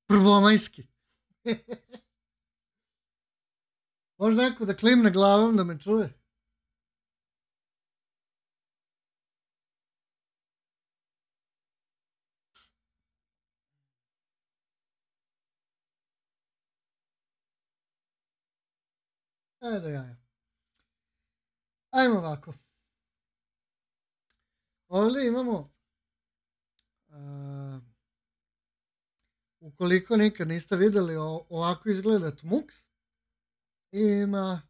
Prvomajski. Može neko da klimne glavom da me čuje? Ajmo ovako. Ovdje imamo, ukoliko nikad niste vidjeli, ovako izgleda Tmux. Ima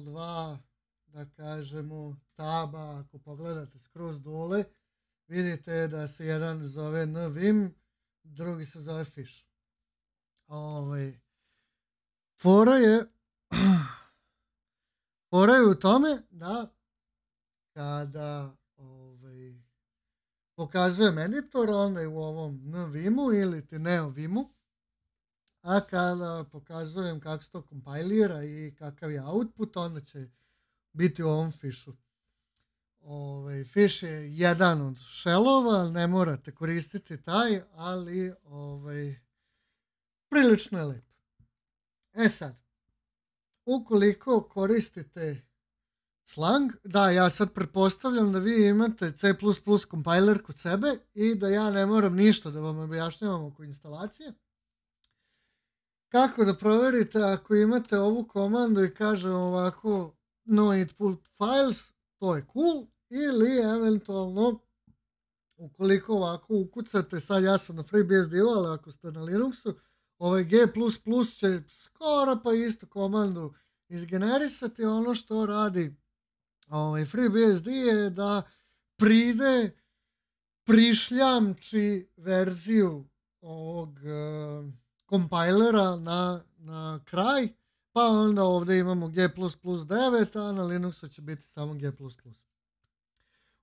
dva, da kažemo, taba. Ako pogledate skroz dole, vidite da se jedan zove NVim, drugi se zove Fish. Fora je u tome da kada pokazujem editor, onda je u ovom NVimu ili ti NeoVimu, a kada pokazujem kako se to kompajlira i kakav je output, onda će biti u ovom Fishu. Fish je jedan od shellova, ne morate koristiti taj, ali prilično je lep. Sad, ukoliko koristite slang, da, ja sad pretpostavljam da vi imate C++ compiler kod sebe i da ja ne moram ništa da vam objašnjavam oko instalacije. Kako da proverite ako imate ovu komandu i kaže ovako no input files, to je cool, ili eventualno ukoliko ovako ukucate, sad ja sam na FreeBSD-u, ali ako ste na Linuxu, G++ će skoro pa istu komandu izgenerisati. Ono što radi FreeBSD je da prišljamči verziju ovog kompajlera na kraj, pa onda ovdje imamo G++9, a na Linuxu će biti samo G++.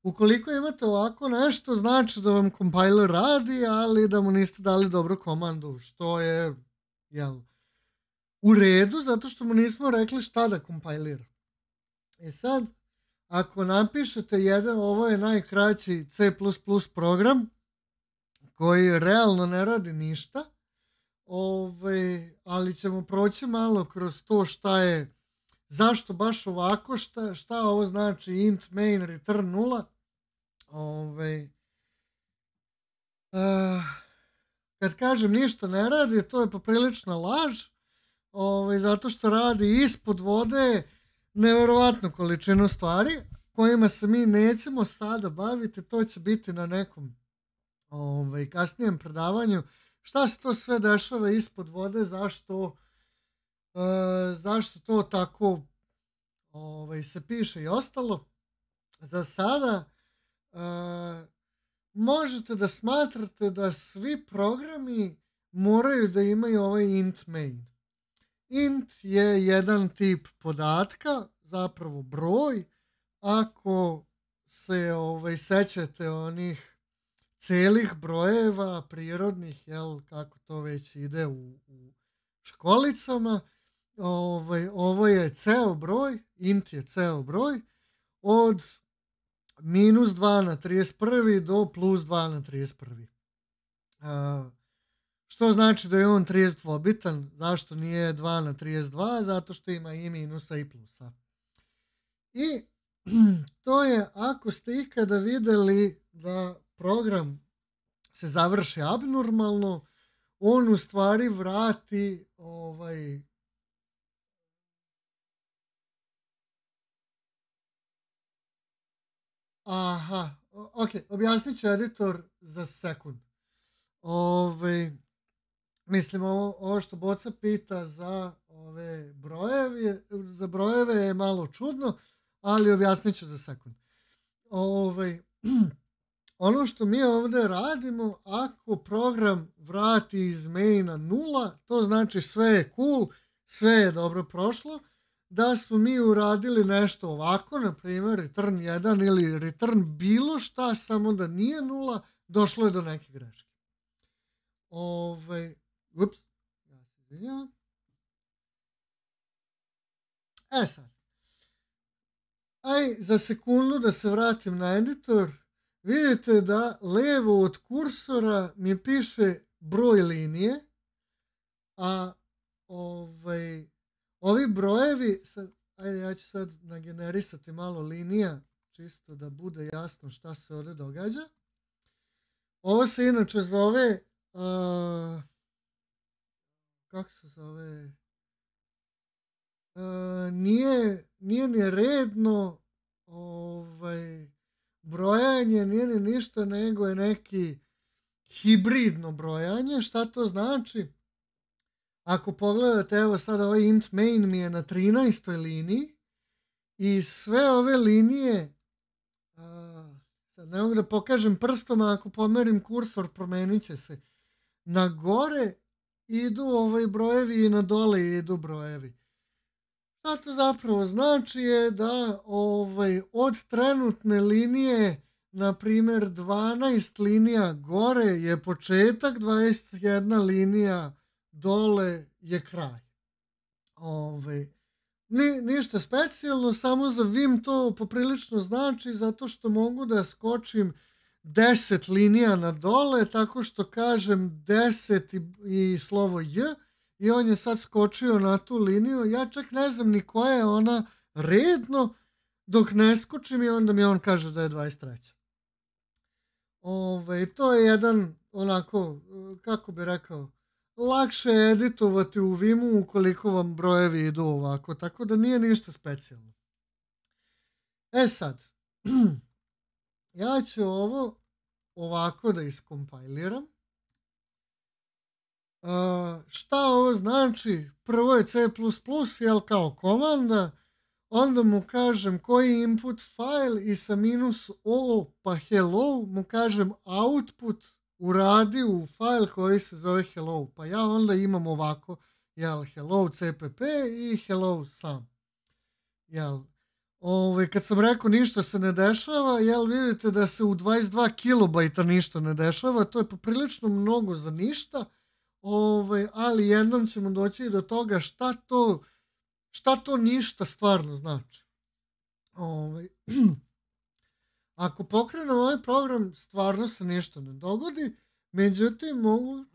Ukoliko imate ovako nešto, znači da vam kompajler radi, ali da mu niste dali dobru komandu, što je u redu, zato što mu nismo rekli šta da kompajlira. I sad, ako napišete ovo je najkraći C++ program, koji realno ne radi ništa, ali ćemo proći malo kroz to zašto baš ovako, šta ovo znači int main return 0. Kad kažem ništa ne radi, to je poprilična laž, zato što radi ispod vode nevjerovatnu količinu stvari kojima se mi nećemo sada baviti, to će biti na nekom kasnijem predavanju. Šta se to sve dešava ispod vode, zašto to tako se piše i ostalo. Za sada možete da smatrate da svi programi moraju da imaju ovaj int main. Int je jedan tip podatka, zapravo broj. Ako se sećate onih celih brojeva prirodnih, kako to već ide u školicama, ovo je ceo broj, int je ceo broj, od -2 na 31 do +2 na 31. Što znači da je on 32-bitan. Zašto nije 2 na 32? Zato što ima i minusa i plusa. I to je, ako ste ikada vidjeli da program se završi abnormalno, on u stvari vrati objasnit ću editor za sekund. Mislim, ovo što Boca pita za brojeve je malo čudno, ali objasnit ću za sekund. Ono što mi ovdje radimo, ako program vrati iz maina 0, to znači sve je cool, sve je dobro prošlo. Da smo mi uradili nešto ovako, na primjer return 1 ili return bilo šta, samo da nije 0, došlo je do neke greške. Ja se izvinjavam. Sad. Za sekundu da se vratim na editor. Vidite da levo od kursora mi piše broj linije, a ovi brojevi, sad, ajde ja ću sad nagenerisati malo linija, čisto da bude jasno šta se ovdje događa. Ovo se inače zove, kako se zove, nije ni redno brojanje, nije ni ništa, nego je neki hibridno brojanje. Šta to znači? Ako pogledate, evo sad ovaj int main mi je na 13. liniji i sve ove linije, sad ne mogu da pokažem prstom, a ako pomerim kursor promenit će se. Na gore idu brojevi i na dole idu brojevi. Šta to zapravo znači je da od trenutne linije, na primjer 12 linija gore je početak, 21 linija dole je kraj. Ništa specijalno, samo za Vim to poprilično znači, zato što mogu da skočim 10 linija na dole, tako što kažem 10 i slovo J, i on je sad skočio na tu liniju. Ja čak ne znam ni koja je ona redno, dok ne skočim i onda mi on kaže da je 23. To je jedan onako, kako bi rekao, lakše je editovati u Vimu ukoliko vam brojevi idu ovako, tako da nije ništa specijalno. Sad, ja ću ovo ovako da iskompajliram. Šta ovo znači? Prvo je C++, jel, kao komanda, onda mu kažem koji input file i sa -o pa hello mu kažem output uradi u file koji se zove hello, pa ja onda imam ovako, jel, hello cpp i hello sam. Jel, kad sam rekao ništa se ne dešava, jel, vidite da se u 22 kilobajta ništa ne dešava, to je poprilično mnogo za ništa, ali jednom ćemo doći do toga šta to ništa stvarno znači. Ako pokrenem ovaj program, stvarno se ništa ne dogodi, međutim mogu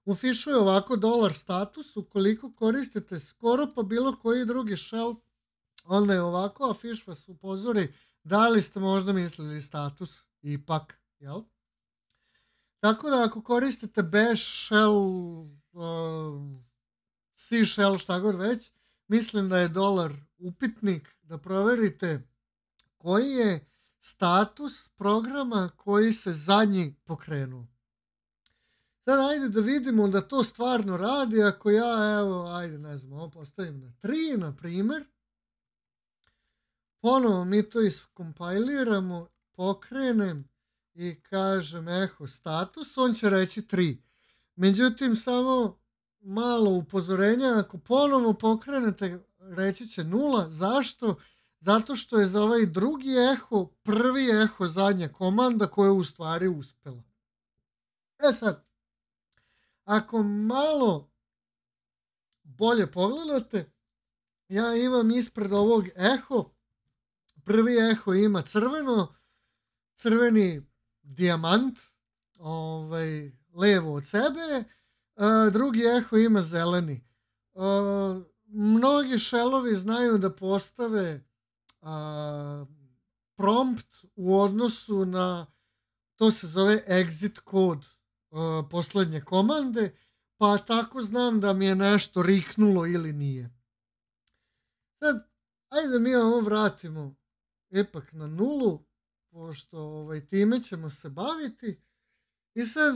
u fišu je ovako $status, ukoliko koristite skoro pa bilo koji drugi shell, onda je ovako, a fiš vas upozori da li ste možda mislili status ipak, jel? Tako da ako koristite bash shell, C shell, šta god već, mislim da je $upitnik, da proverite koji je status programa koji se zadnji pokrenuo. Sad ajde da vidimo da to stvarno radi. Ako ja, evo, ajde, ne znam, ovo postavim na 3, na primjer. Ponovo mi to iskompajliramo, pokrenem i kažem eho status, on će reći 3. Međutim, samo malo upozorenja, ako ponovo pokrenete, reći će 0. Zašto? Zato što je za ovaj drugi eho, prvi eho zadnja komanda koja je u stvari uspela. Sad, ako malo bolje pogledate, ja imam ispred ovog eho, prvi eho ima crveni dijamant, levo od sebe, drugi eho ima zeleni. Mnogi shellovi znaju da postave prompt u odnosu na, to se zove exit kod poslednje komande, pa tako znam da mi je nešto riknulo ili nije. Sad, ajde mi ovo vratimo ipak na 0, pošto time ćemo se baviti. I sad,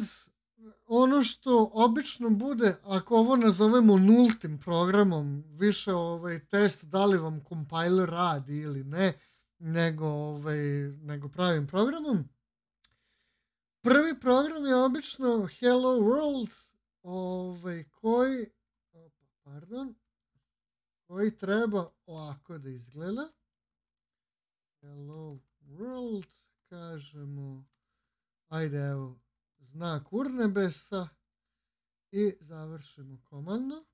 ono što obično bude, ako ovo nazovemo nultim programom, više test da li vam compiler radi ili ne, nego pravim programom. Prvi program je obično Hello World, koji treba ovako da izgleda. Hello World, kažemo, ajde evo, znak urnebesa i završimo komandu.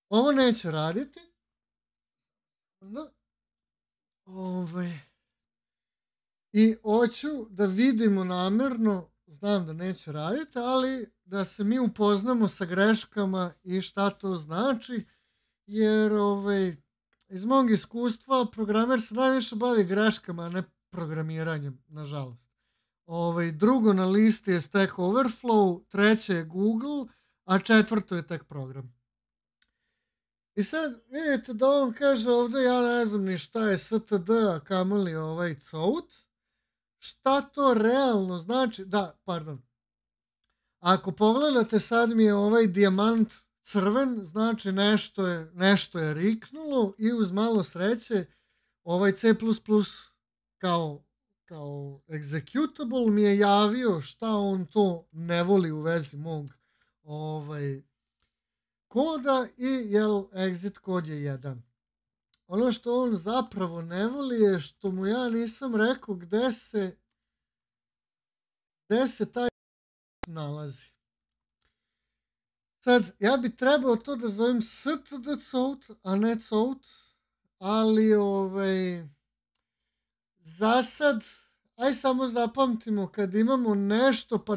Ovo neće raditi. I hoću da vidimo namerno, znam da neće raditi, ali da se mi upoznamo sa greškama i šta to znači, jer iz mog iskustva programer se najviše bavi greškama, a ne programiranjem, nažalost. Drugo na listi je Stack Overflow, treće je Google, a četvrto je tek program. I sad vidite da on kaže ovdje, ja ne znam ni šta je std, a kamoli cout. Šta to realno znači? Da, pardon. Ako pogledate, sad mi je ovaj dijamant crven, znači nešto je riknulo i uz malo sreće C++ kao executable mi je javio šta on to ne voli u vezi mog koda i exit kod je 1. Ono što on zapravo ne voli je što mu ja nisam rekao gde se taj nalazi. Sad, ja bi trebao to da zovem std_cout, a ne cout, ali za sad, aj samo zapamtimo kad imamo nešto pa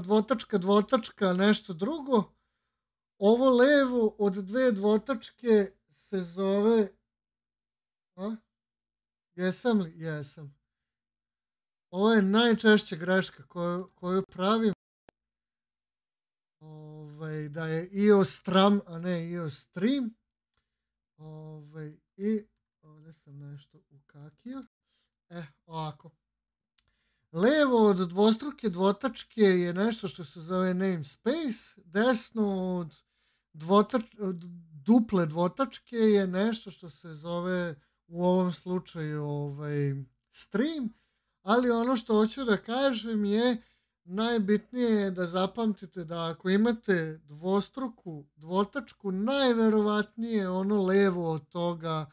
dvotačka, nešto drugo, ovo levo od dve dvotačke se zove... Jesam li? Jesam. Ovo je najčešća greška koju pravim. Da je IO_strum, a ne IO_stream. I ovdje sam nešto ukakio. Ovako. Levo od dvostruke dvotačke je nešto što se zove namespace. Desno od duple dvotačke je nešto što se zove u ovom slučaju stream. Ali ono što hoću da kažem je najbitnije je da zapamtite da ako imate dvostruku dvotačku, najverovatnije ono levo od toga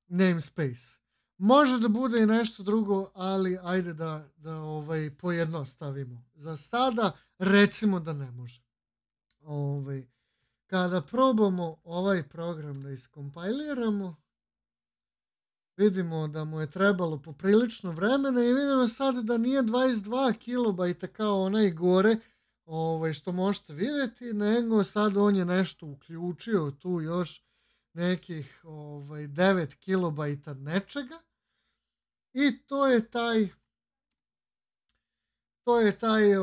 namespace. Može da bude i nešto drugo, ali ajde da pojednostavimo. Za sada recimo da ne može. Kada probamo ovaj program da iskompajliramo, vidimo da mu je trebalo poprilično vremena i vidimo sad da nije 22 kilobajta kao onaj gore što možete vidjeti, nego sad on je nešto uključio tu još nekih 9 kilobajta nečega i to je taj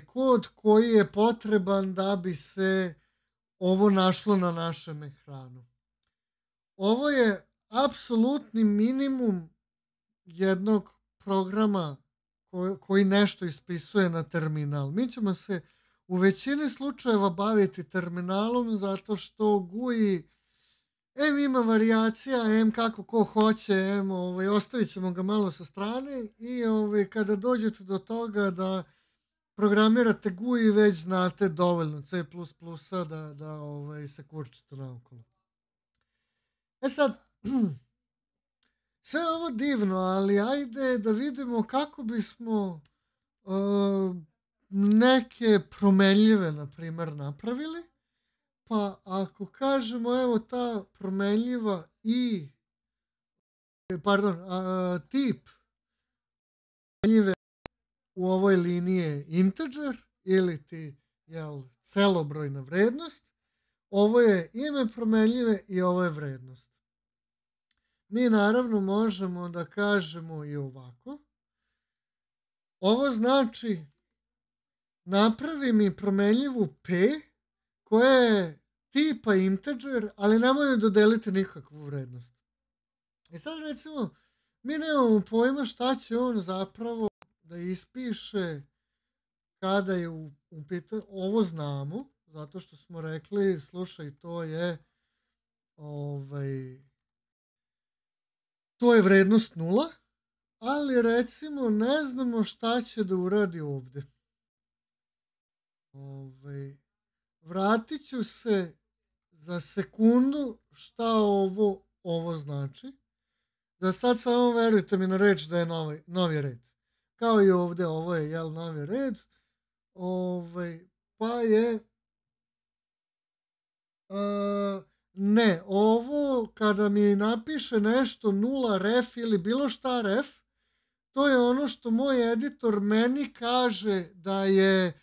kod koji je potreban da bi se ovo našlo na našem ekranu. Ovo je apsolutni minimum jednog programa koji nešto ispisuje na terminal. Mi ćemo se u većini slučajeva baviti terminalom zato što GUI ima varijacija, kako ko hoće, ostavit ćemo ga malo sa strane i kada dođete do toga da programirate GUI već znate dovoljno C++ da se kurčite naokolo. Sad, sve ovo divno, ali ajde da vidimo kako bismo neke promenljive, na primjer, napravili. Pa ako kažemo, evo ta promenljiva tip promenljive u ovoj liniji je integer ili celobrojna vrednost. Ovo je ime promenljive i ovo je vrednost. Mi naravno možemo da kažemo i ovako. Ovo znači napravi mi promenljivu p koja je tipa integer, ali nemoj dodeliti nikakvu vrednost. I sad recimo, mi nemamo pojma šta će on zapravo da ispiše kada je u pitanju. Ovo znamo, zato što smo rekli, slušaj, to je vrednost 0, ali recimo ne znamo šta će da uradi ovdje. Vratit ću se za sekundu šta ovo znači. Da sad samo verujte mi na reč da je novi red. Kao i ovdje, ovo je novi red. Pa je... ne, ovo kada mi napiše nešto 0 ref ili bilo šta ref, to je ono što moj editor meni kaže da je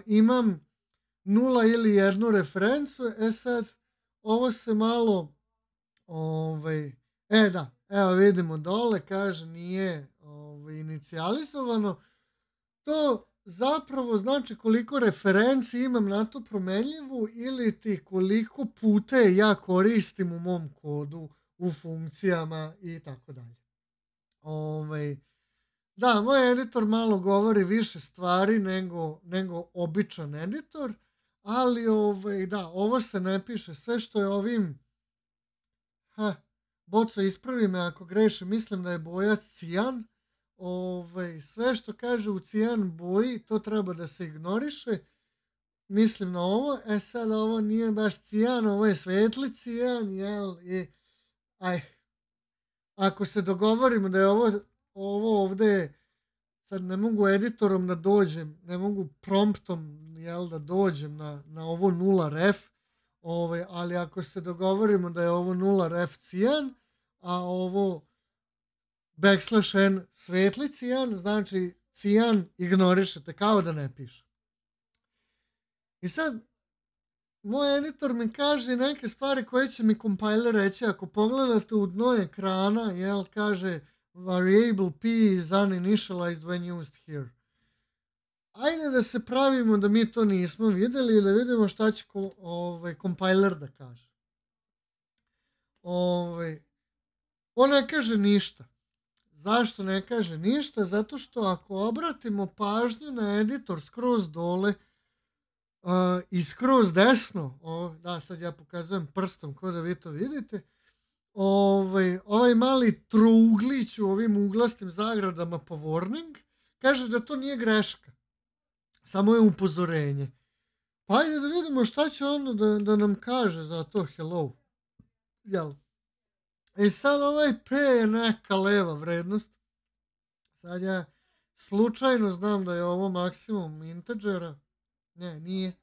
imam 0 ili 1 referencu. Sad, ovo se malo da, evo vidimo dole, kaže nije inicijalizovano. To zapravo znači koliko referenci imam na tu promenljivu ili ti koliko puta ja koristim u mom kodu, u funkcijama i tako dalje. Da, moj editor malo govori više stvari nego običan editor, ali da, ovo se ne piše. Sve što je ovim, Boco, ispravi me ako grešim, mislim da je boja cijan. Sve što kaže u cijan boji, to treba da se ignoriše. Mislim na ovo. Sad ovo nije baš cijan, ovo je svetli cijan, jel? Ako se dogovorimo da je ovo ovde, sad ne mogu editorom da dođem, ne mogu promptom, jel, da dođem na ovo 0 ref, ali ako se dogovorimo da je ovo 0 ref cijan, a ovo \n svetli cijan, znači cijan ignorišete, kao da ne piše. I sad, moj editor mi kaže neke stvari koje će mi compiler reći. Ako pogledate u dno ekrana, jel, kaže variable p is uninitialized when used here. Ajde da se pravimo da mi to nismo vidjeli i da vidimo šta će compiler da kaže. On ne kaže ništa. Zašto ne kaže ništa? Zato što ako obratimo pažnju na editor skroz dole i skroz desno, da, sad ja pokazujem prstom kao da vi to vidite, ovaj mali trouglić u ovim uglastim zagradama po warning kaže da to nije greška, samo je upozorenje. Pa ajde da vidimo šta će ono da nam kaže za to hello. Jel? I sad ovaj p je neka leva vrednost. Sad ja slučajno znam da je ovo maksimum integera. Ne, nije.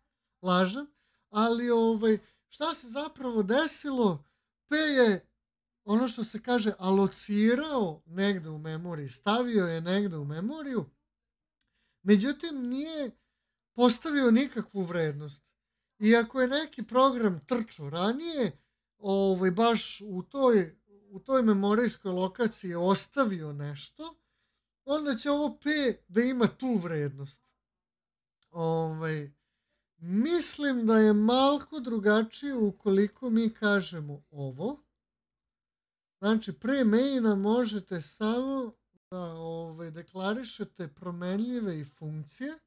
Lažem. Ali šta se zapravo desilo? P je ono što se kaže alocirao negde u memoriji. Stavio je negde u memoriju. Međutim, nije postavio nikakvu vrednost. I ako je neki program trčao ranije, baš u toj memorijskoj lokaciji ostavio nešto, onda će ovo P da ima tu vrednost. Mislim da je malko drugačije ukoliko mi kažemo ovo. Znači, pre maina možete samo da deklarišete promenljive i funkcije.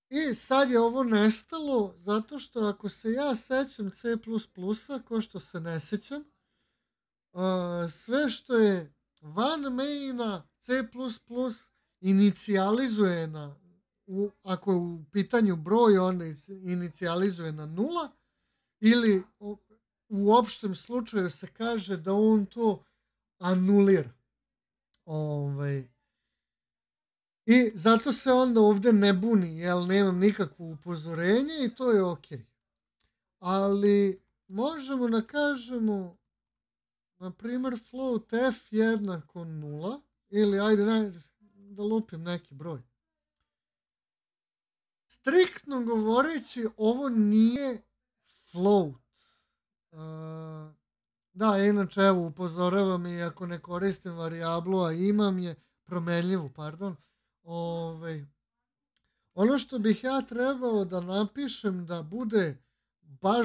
I sad je ovo nestalo zato što ako se ja sećam C++, ko što se ne sećam, sve što je van maina C++ inicijalizuje ako je u pitanju broj, onda inicijalizuje na 0, ili u opštem slučaju se kaže da on to anulira. I zato se onda ovde ne buni, jer nemam nikakvo upozorenje i to je ok. Ali možemo da kažemo, na primjer, float f jednako 0, ili ajde da lupim neki broj. Striktno govoreći, ovo nije float. Da, inače, evo, upozoravam i ako ne koristim varijablu, a imam je promenljivu, pardon. Ono što bih ja trebao da napišem da bude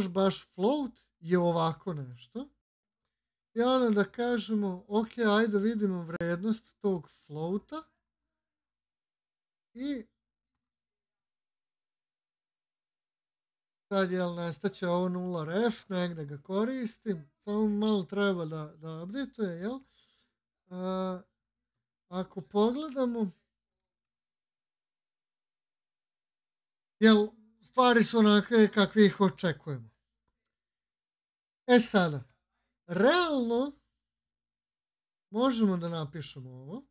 baš float je ovako nešto. I onda da kažemo, ok, ajde vidimo vrednost tog floata. I sad nestaće ovo 0 ref, negde ga koristim. Samo malo treba da updatuje, jel? Ako pogledamo, jel, stvari su onake kakve ih očekujemo. Sada, realno možemo da napišemo ovo.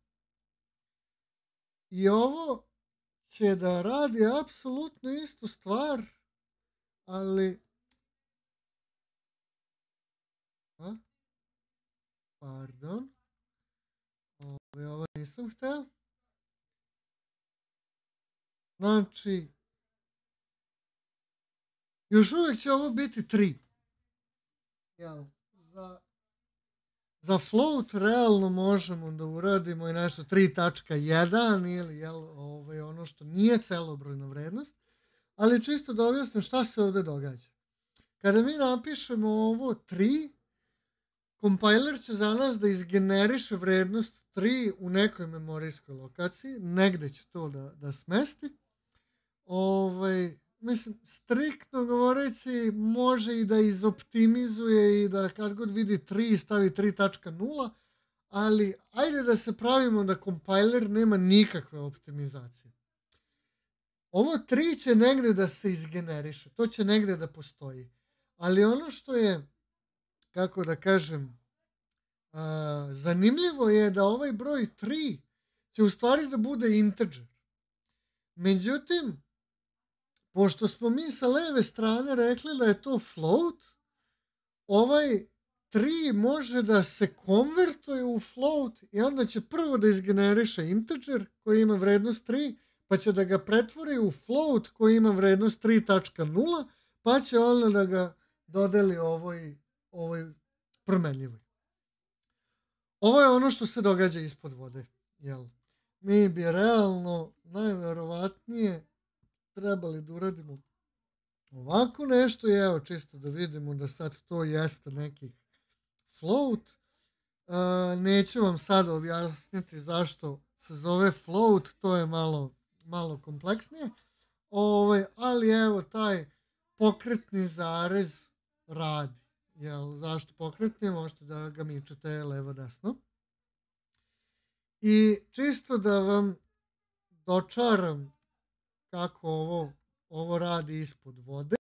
I ovo će da radi apsolutno istu stvar, ali... Pardon. Ovo nisam hteo. Znači, još uvijek će ovo biti 3. Jel, za float realno možemo da uradimo i nešto 3.1 ili jel, ono što nije celobrojna vrednost, ali čisto da objasnim šta se ovdje događa. Kada mi napišemo ovo 3, kompiler će za nas da izgeneriše vrednost 3 u nekoj memorijskoj lokaciji, negde će to da smesti. Mislim, striktno govoreći, može i da izoptimizuje i da kad god vidi 3 stavi 3.0, ali ajde da se pravimo da kompiler nema nikakve optimizacije. Ovo 3 će negde da se izgeneriše, to će negde da postoji. Ali ono što je, kako da kažem, zanimljivo je da ovaj broj 3 će u stvari da bude integer. Međutim, pošto smo mi sa leve strane rekli da je to float, ovaj 3 može da se konvertuje u float i onda će prvo da izgeneriše integer koji ima vrednost 3, pa će da ga pretvori u float koji ima vrednost 3.0, pa će onda da ga dodeli ovoj promenljivoj. Ovo je ono što se događa ispod vode. Jel? Mi bi realno najverovatnije trebali da uradimo ovako nešto i evo čisto da vidimo da sad to jeste neki float. Neću vam sad objasniti zašto se zove float, to je malo kompleksnije. Ali evo taj pokretni zarez radi. Jel, zašto pokretni? Možete da ga mičete levo desno. I čisto da vam dočaram kako ovo radi ispod vode.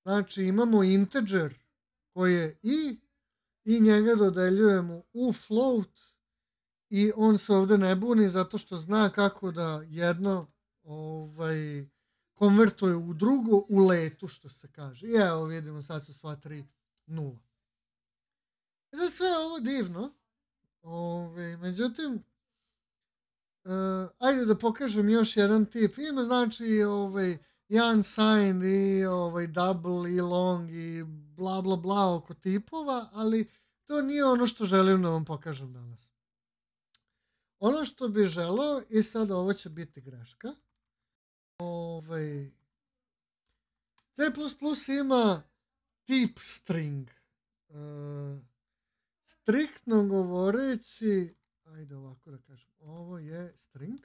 Znači imamo integer koji je i njega dodeljujemo u float i on se ovdje ne buni zato što zna kako da jedno konvertuje u drugo u letu, što se kaže. I evo vidimo sad su sva 3 nula. Za sve ovo divno. Međutim, ajde da pokažem još jedan tip. Ima znači i unsigned i double i long i bla bla bla oko tipova, ali to nije ono što želim da vam pokažem danas. Ono što bi želeo, i sad ovo će biti greška, C++ ima tip string. Striktno govoreći, ajde ovako da kažem, ovo je string.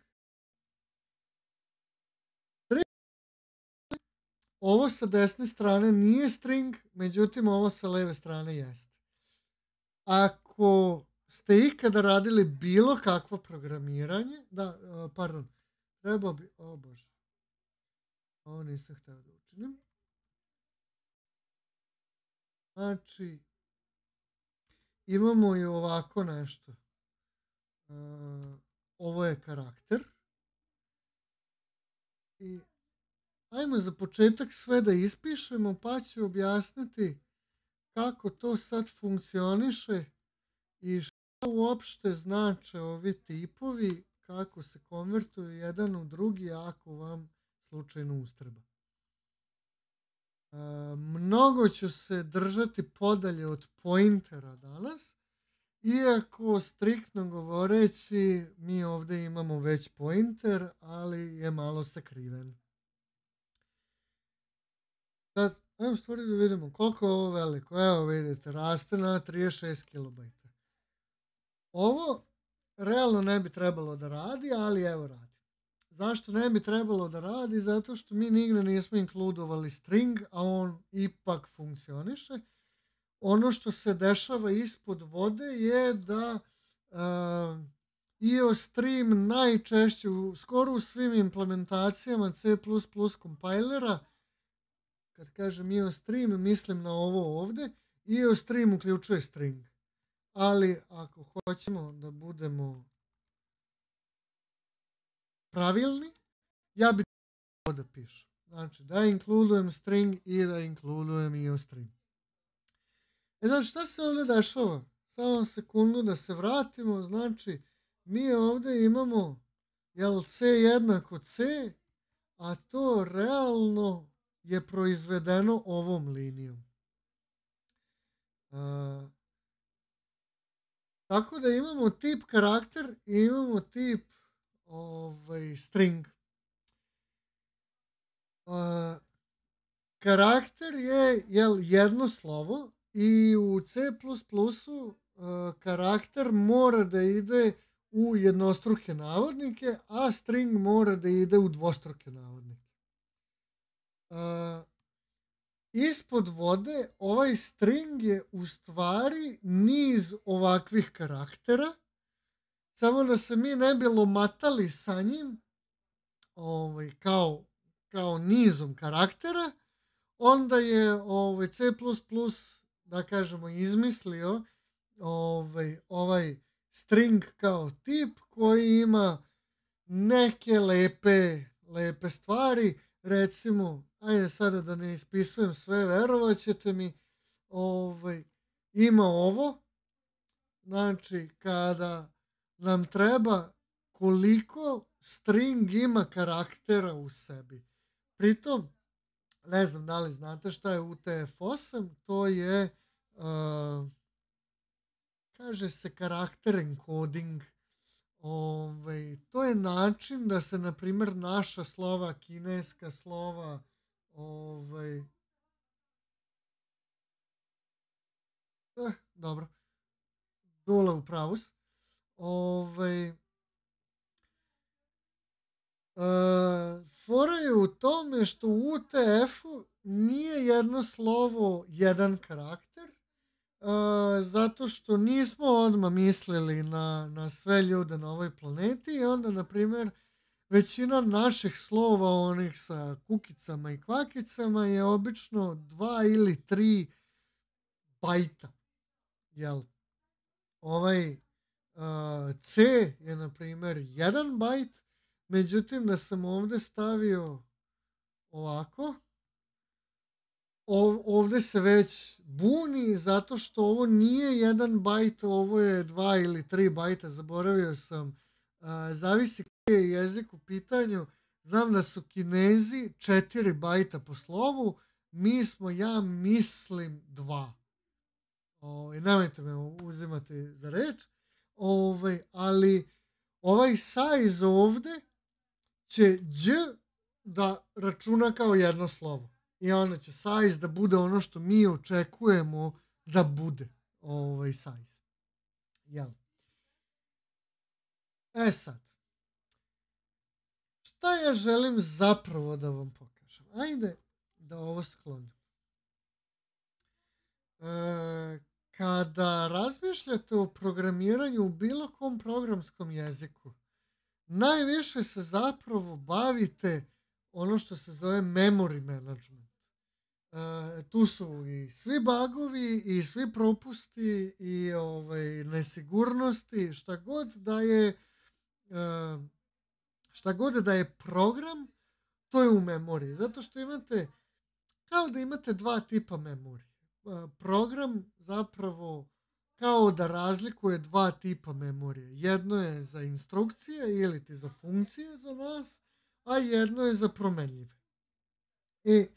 Ovo sa desne strane nije string, međutim ovo sa leve strane jeste. Ako ste ikada radili bilo kakvo programiranje, trebao bi, bože, ovo nisam htio da učinim. Znači, imamo i ovako nešto. Ovo je karakter. I ajmo za početak sve da ispišemo, pa ću objasniti kako to sad funkcioniše i šta uopšte znače ovi tipovi, kako se konvertuju jedan u drugi ako vam slučajno ustreba. Mnogo ću se držati podalje od pointera danas, iako striktno govoreći mi ovdje imamo već pointer, ali je malo sakriven. Sad, ajmo stvari da vidimo koliko je ovo veliko. Evo vidite, raste na 36 KB. Ovo realno ne bi trebalo da radi, ali evo radi. Zašto ne bi trebalo da radi? Zato što mi nigde nismo inkludovali string, a on ipak funkcioniše. Ono što se dešava ispod vode je da IOStream najčešće, skoro u svim implementacijama C++ kompilera, kad kažem IOStream, mislim na ovo ovdje, IOStream uključuje string. Ali ako hoćemo da budemo pravilni, ja bih to da pišem. Znači da inkludujem string i da inkludujem IOStream. Znači šta se ovdje dešava samo sekundu da se vratimo, znači mi ovdje imamo jel C jednako C, a to realno je proizvedeno ovom linijom. Tako da imamo tip karakter i imamo tip string. Karakter je jedno slovo i u C++ karakter mora da ide u jednostruke navodnike, a string mora da ide u dvostruke navodnike. Ispod vode ovaj string je u stvari niz ovakvih karaktera, samo da se mi ne bi lomatali sa njim kao nizom karaktera, onda je C++ da kažemo izmislio ovaj string kao tip koji ima neke lepe stvari. Recimo, ajde sada da ne ispisujem sve, verovat ćete mi, ima ovo, znači kada nam treba koliko string ima karaktera u sebi. Pritom, ne znam da li znate šta je UTF-8, to je, kaže se karakter encoding. To je način da se, na primjer, naša slova, kineska slova, dobro, Dule u pravu si. Fora je u tome što u UTF-u nije jedno slovo jedan karakter, zato što nismo odmah mislili na sve ljude na ovoj planeti i onda, na primjer, većina naših slova, onih sa kukicama i kvakicama, je obično 2 ili 3 bajta. Jel? Ovaj C je, na primjer, 1 bajt, međutim, da sam ovdje stavio ovako, ovdje se već buni zato što ovo nije 1 bajt, ovo je 2 ili 3 bajta, zaboravio sam. Zavisi koji je jezik u pitanju. Znam da su Kinezi 4 bajta po slovu, mi smo, ja mislim, 2. Nemojte me uzimati za reč. Ali ovaj size ovdje će Đ da računa kao jedno slovo. I onda će size da bude ono što mi očekujemo da bude size. Jel? Sad. Šta ja želim zapravo da vam pokažem? Ajde da ovo sklonim. Kada razmišljate o programiranju u bilo kom programskom jeziku, najviše se zapravo bavite ono što se zove memory management. Tu su i svi bugovi i svi propusti i nesigurnosti, šta god da je program, to je u memoriji. Zato što imate, kao da imate 2 tipa memorije. Program zapravo kao da razlikuje 2 tipa memorije. Jedno je za instrukcije ili ti za funkcije za nas, a jedno je za promenljive. I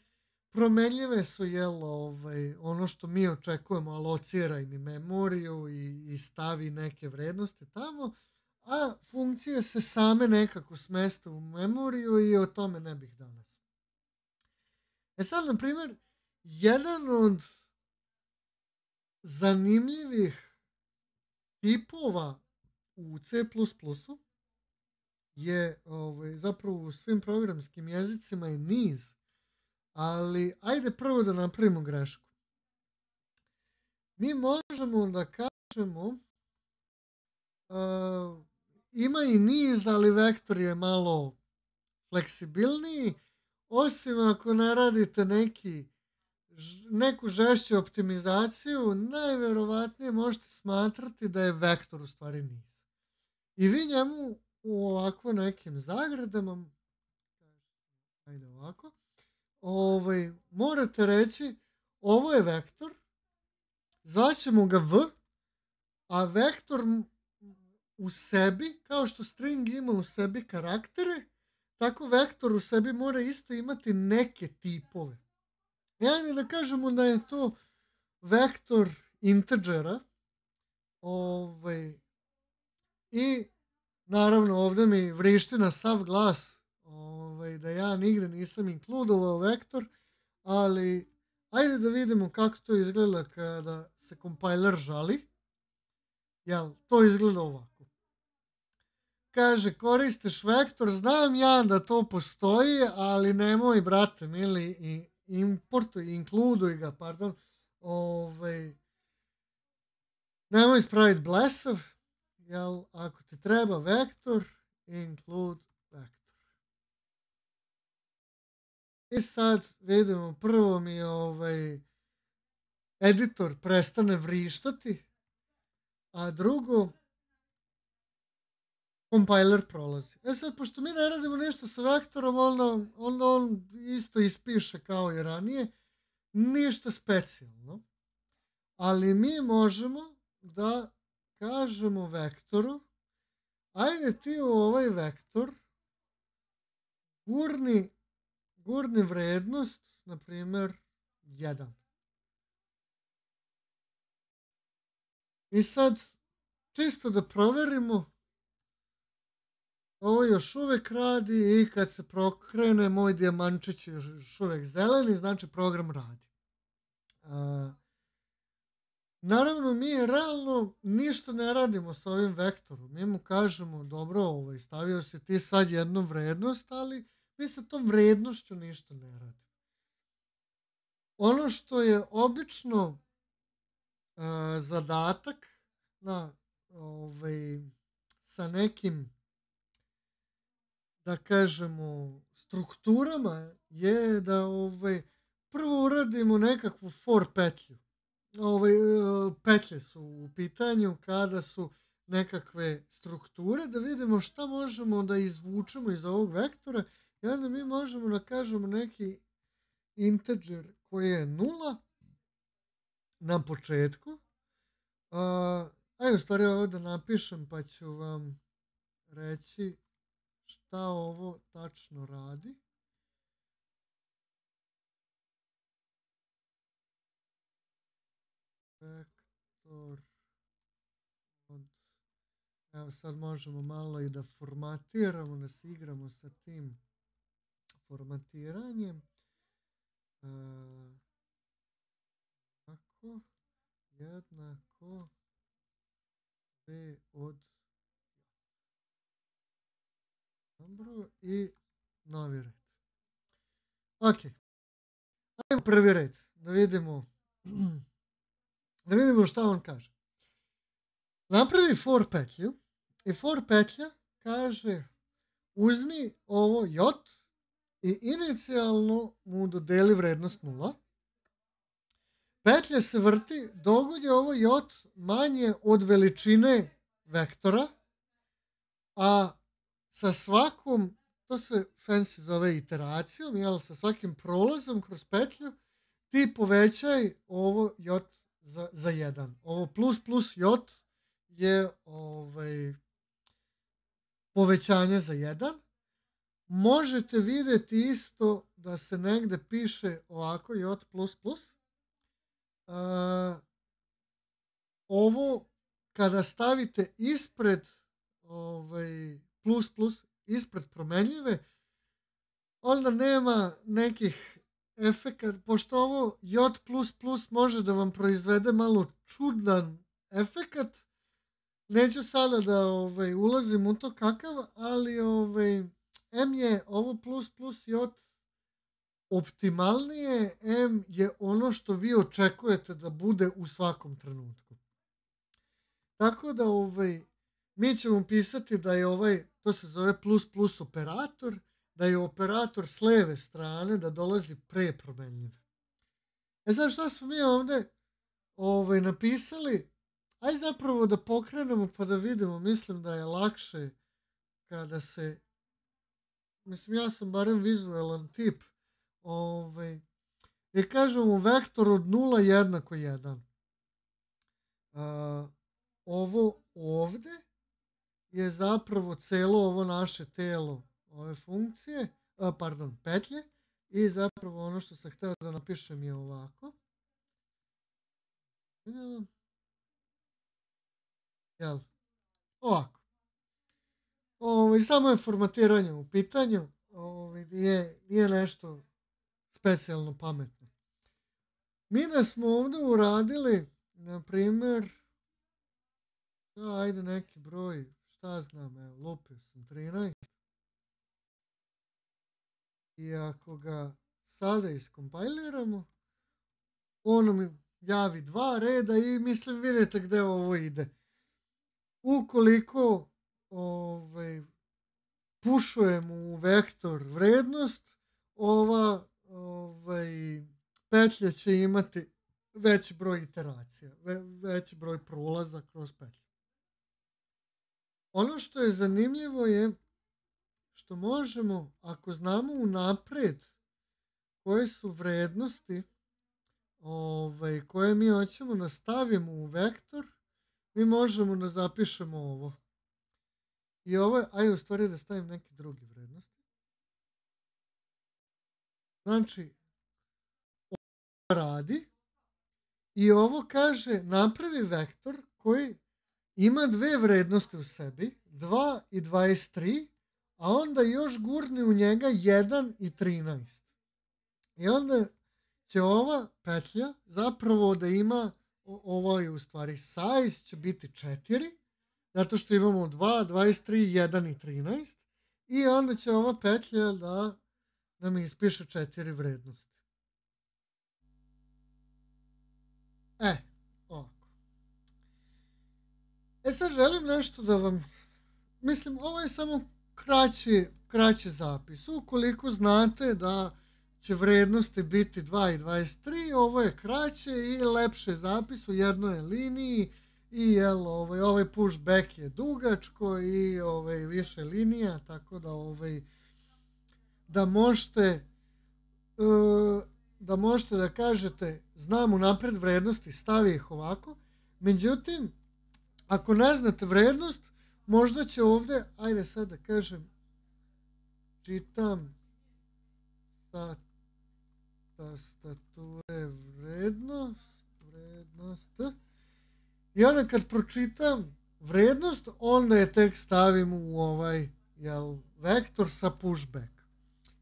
promenljive su ono što mi očekujemo, alocira im i memoriju i stavi neke vrednosti tamo, a funkcije se same nekako smeste u memoriju i o tome ne bih danas. Sad, na primjer, jedan od zanimljivih tipova u C++ je zapravo u svim programskim jezicima je niz, ali ajde prvo da napravimo grešku. Mi možemo da kažemo ima i niz, ali vektor je malo fleksibilniji, osim ako ne radite neku žešću optimizaciju, najverovatnije možete smatrati da je vektor u stvari niz. I vi njemu u ovako nekim zagradama, ajde ovako, morate reći ovo je vektor, zvaćemo ga V, a vektor u sebi, kao što string ima u sebi karaktere, tako vektor u sebi mora isto imati neke tipove. Ajde da kažemo da je to vektor integera, i naravno ovdje mi vrišti na sav glas da ja nigde nisam inkludovao vektor, ali ajde da vidimo kako to izgleda kada se kompiler žali. Jel, to izgleda ovako. Kaže, koristiš vektor, znam ja da to postoji, ali nemoj, brate, mili, inkluduj ga, pardon, nemoj ispraviti blesav, jel, ako ti treba vektor, include vektor. I sad vidimo, prvo mi editor prestane vrištati, a drugo, kompiler prolazi. Sad, pošto mi ne radimo nešto sa vektorom, onda on isto ispiše kao i ranije, ništa specijalno, ali mi možemo da kažemo vektoru, ajde ti u ovaj vektor gurni vrednost, na primjer, 1. I sad, čisto da proverimo, ovo još uvijek radi i kad se prokrene, moj dijamančić je još uvijek zeleni, znači program radi. Naravno, mi realno ništa ne radimo sa ovim vektorom. Mi mu kažemo, dobro, stavio si ti sad jednu vrednost, ali mi sa tom vrednošću ništa ne radimo. Ono što je obično zadatak sa nekim, da kažemo, strukturama je da prvo uradimo nekakvu for petlju. Petlje su u pitanju kada su nekakve strukture, da vidimo šta možemo da izvučemo iz ovog vektora i onda mi možemo da kažemo neki integer koji je 0 na početku. Ajde u stvari ovo da napišem pa ću vam reći šta ovo tačno radi. Vektor evo sad možemo malo i da formatiramo, da se igramo sa tim formatiranjem. Tako, jednako b od dobro i novi red. Ok, ajmo prvi red da vidimo šta on kaže. Napravi for petlju i for petlja kaže uzmi ovo j i inicijalno mu dodeli vrednost 0. Petlja se vrti dok je ovo j manje od veličine vektora, a sa svakom, to se fancy zove iteracijom, jel, sa svakim prolazom kroz petlju ti povećaj ovo j za 1. Ovo plus j je povećanje za 1. Možete vidjeti isto da se negde piše ovako j++. Ovo kada stavite ispred plus ispred promenljive, onda nema nekih efekata, pošto ovo j++ može da vam proizvede malo čudan efekat. Neću sada da ulazim u to kakav, ali m je ovo plus j optimalnije, m je ono što vi očekujete da bude u svakom trenutku. Tako da mi ćemo pisati da je to se zove plus operator, da je operator s leve strane, da dolazi pre promenljive. Sad šta smo mi ovdje napisali? Ajde zapravo da pokrenemo pa da vidimo. Mislim da je lakše kada se, mislim ja sam barem vizualan tip, i kažemo vektor od 0 jednako 1. ovo ovde je zapravo celo ovo naše telo ove funkcije, petlje, i zapravo ono što sam hteo da napišem je ovako. Jel? Ovako. Samo je formatiranje u pitanju, nije nešto specijalno pametno. Mi da smo ovde uradili, na primer, ajde neki broj, šta znam, evo, lupio sam 13. I ako ga sada iskompajliramo, ono mi javi 2 reda i mislim vidite gde ovo ide. Ukoliko pušujemo u vektor vrednost, ova petlja će imati veći broj iteracija, veći broj prolaza kroz petlju. Ono što je zanimljivo je što možemo, ako znamo unapred koje su vrednosti koje mi hoćemo da stavimo u vektor, mi možemo da zapišemo ovo. I ovo, ajde u stvari da stavim neke druge vrednosti. Znači, ovo radi i ovo kaže napravi vektor koji ima 2 vrednosti u sebi, 2 i 23, a onda još gurni u njega 1 i 13. I onda će ova petlja zapravo da ima, ovo je u stvari size će biti 4, zato što imamo 2, 23, 1 i 13, i onda će ova petlja da nam ispiše 4 vrednosti. Ovako. Sad želim nešto da vam, mislim, ovo je samo kraći zapis. Ukoliko znate da će vrednosti biti 2 i 23, ovo je kraće i lepše zapis u jednoj liniji, i ovaj pushback je dugačko i više linija, tako da da možete da kažete znam unapred vrednosti, stavi ih ovako. Međutim, ako ne znate vrednost, možda će ovde, ajde sad da kažem, čitam sa tastature vrednost, i onda kad pročitam vrednost, onda je tek stavim u ovaj vektor sa pushback.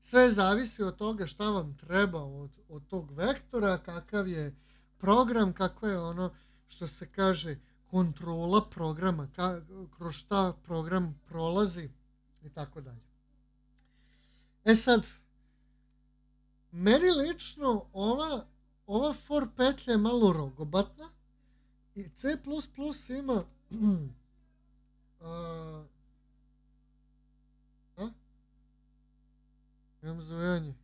Sve zavisi od toga šta vam treba od tog vektora, kakav je program, kako je ono što se kaže kontrola programa, kroz šta program prolazi i tako dalje. Sad, meni lično ova for petlja je malo rogobatna i C++ ima imam zujanje.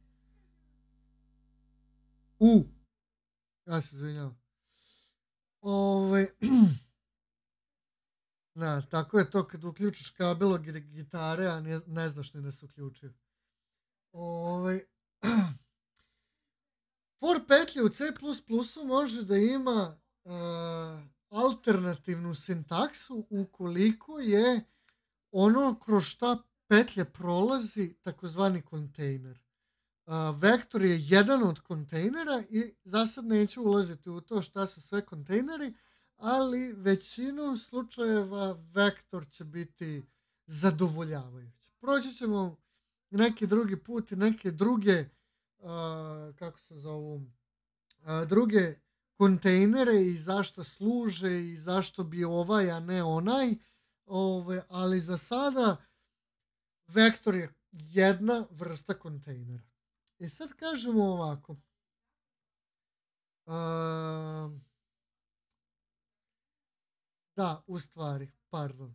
Ja se izvinjavam. Tako je to kad uključiš kabel od gitare, a ne znaš ni da se uključio. For petlja u C++ može da ima alternativnu sintaksu ukoliko je ono kroz šta petlja prolazi takozvani kontejner. Vektor je jedan od kontejnera i za sad neću ulaziti u to šta su sve kontejneri, ali većinu slučajeva vektor će biti zadovoljavajući. Proći ćemo neki drugi put i neke druge druge kontejnere i zašto služe i zašto bi ovaj, a ne onaj, ali za sada vektor je jedna vrsta kontejnera. I sad kažemo ovako. U stvari, pardon.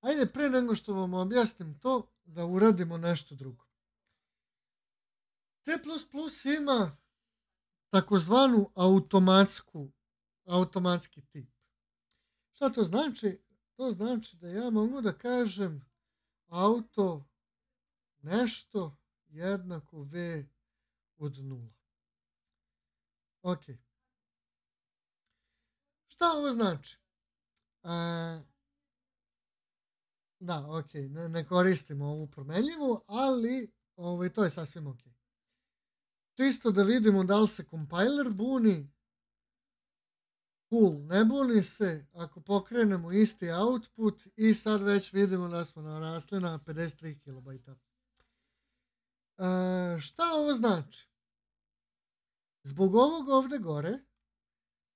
Ajde, pre nego što vam objasnim to, da uradimo nešto drugo. C++ ima takozvanu automatski tip. Šta to znači? To znači da ja mogu da kažem auto nešto jednako v od 0. Ok. Šta ovo znači? Da, ok, ne koristimo ovu promenljivu, ali to je sasvim ok. Čisto da vidimo da li se compiler buni. Cool, ne buni se. Ako pokrenemo isti output i sad već vidimo da smo narasli na 53 kilobajta. Šta ovo znači? Zbog ovog ovde gore